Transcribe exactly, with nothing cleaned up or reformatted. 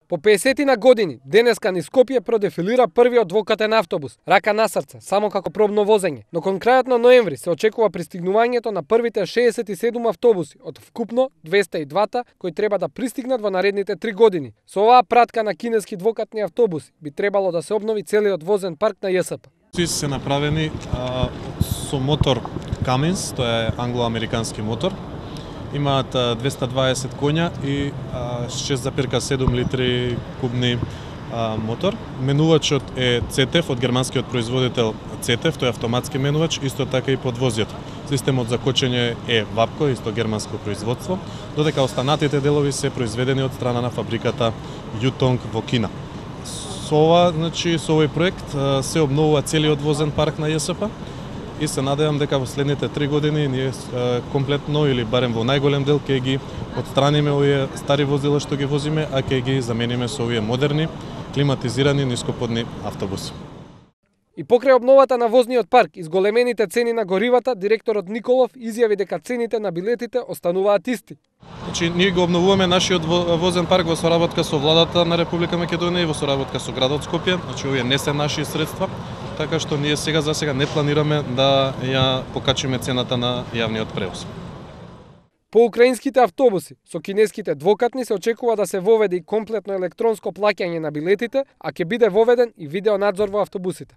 По песетина години, денеска низ Скопје продефилира првиот двокатен автобус, рака на срце, само како пробно возење. Но кон крајот на ноември се очекува пристигнувањето на првите шеесет и седум автобуси од вкупно двесте и два кои треба да пристигнат во наредните три години. Со оваа пратка на кинески двокатни автобуси би требало да се обнови целиот возен парк на Ј С П. Сите се направени а, со мотор Cummins, тоа е англо-американски мотор. Имаат двесте и дваесет коња и шест запирка седум литри кубни а, мотор. Менувачот е Ц Т Ф од германскиот производител Ц Т Ф, тој е автоматски менувач, исто така и подвозјето. Системот за кочење е Вапко, исто германско производство, додека останатите делови се произведени од страна на фабриката Јутонг во Кина. Со ова, значи, со овој проект се обновува целиот возен парк на Ј С П и се надевам дека во следните три години ние комплетно или барем во најголем дел ќе ги отстраниме овие стари возила што ги возиме, а ќе ги замениме со овие модерни, климатизирани нископодни автобуси. И покрај обновата на возниот парк и зголемените цени на горивата, директорот Николов изјави дека цените на билетите остануваат исти. Значи, ние го обновуваме нашиот возен парк во соработка со владата на Република Македонија и во соработка со градот Скопје. Значи, овие не се наши средства, така што ние сега за сега не планираме да ја покачиме цената на јавниот превоз. По украинските автобуси, со кинеските двокатни се очекува да се воведе и комплетно електронско плаќање на билетите, а ќе биде воведен и видеонадзор во автобусите.